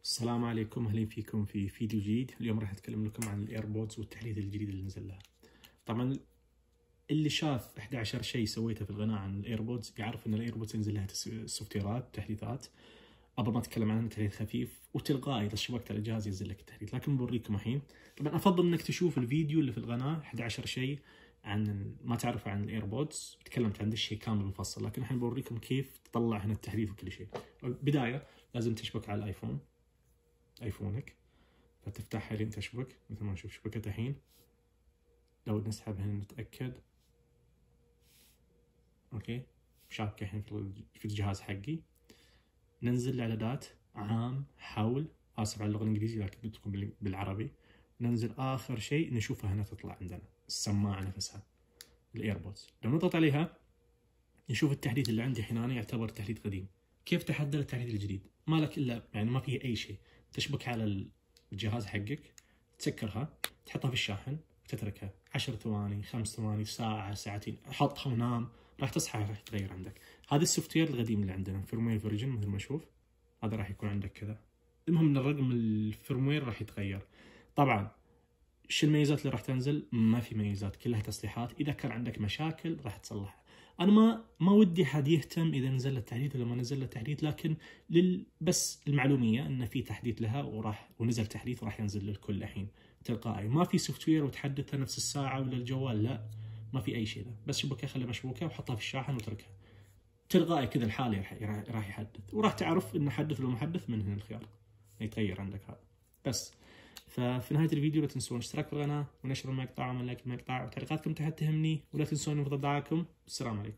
السلام عليكم، اهلا فيكم في فيديو جديد. اليوم راح اتكلم لكم عن الايربودز والتحديث الجديد اللي نزل لها. طبعا اللي شاف 11 شيء سويته في القناه عن الايربودز بيعرف ان الايربودز ينزل لها سوفت ويرات تحديثات. قبل ما اتكلم عنها، تحديث خفيف وتلقائي اذا شبكت على الجهاز ينزل لك التحديث، لكن بوريكم الحين. طبعا افضل انك تشوف الفيديو اللي في القناه 11 شيء عن ما تعرفه عن الايربودز، تكلمت عن الشيء كامل مفصل، لكن الحين بوريكم كيف تطلع هنا التحديث وكل شيء. بدايه لازم تشبك على ايفونك، فتفتحها لين تشبك مثل ما نشوف شبكت الحين. لو نسحب هنا نتأكد، اوكي شابكة الحين في الجهاز حقي. ننزل الاعدادات، عام، حول، اسف على اللغة الانجليزية لكن بدكم بالعربي. ننزل اخر شيء نشوفها هنا تطلع عندنا السماعة نفسها الايربودز. لو نضغط عليها نشوف التحديث اللي عندي الحين، انا يعتبر تحديث قديم. كيف تحدث التحديث الجديد؟ ما لك الا يعني ما فيه اي شيء، تشبك على الجهاز حقك، تسكرها، تحطها في الشاحن وتتركها 10 ثواني، 5 ثواني، ساعة، ساعتين، حطها ونام، راح تصحى راح يتغير عندك. هذا السوفت وير القديم اللي عندنا، فيرموير فيرجن مثل ما نشوف، هذا راح يكون عندك كذا. المهم ان الرقم الفيرموير راح يتغير. طبعا شو الميزات اللي راح تنزل؟ ما في ميزات، كلها تصليحات. اذا كان عندك مشاكل راح تصلحها. انا ما ودي حد يهتم اذا نزل له تحديث ولا ما نزل له تحديث، لكن بس المعلوميه ان في تحديث لها ونزل تحديث وراح ينزل للكل الحين تلقائي. ما في سوفت وير وتحدثها نفس الساعه ولا الجوال، لا ما في اي شيء ذا. بس شبكه خليها مشبوكه وحطها في الشاحن وتركها تلقائي كذا الحالي راح يحدث، وراح تعرف انه حدث ولا محدث من هنا الخيار يتغير عندك هذا. بس ففي نهايه الفيديو لا تنسون الاشتراك في القناه ونشر المقطع وعمل لايك المقطع، وتعليقاتكم تحت تهمني، ولا تنسون انضمام. السلام عليكم.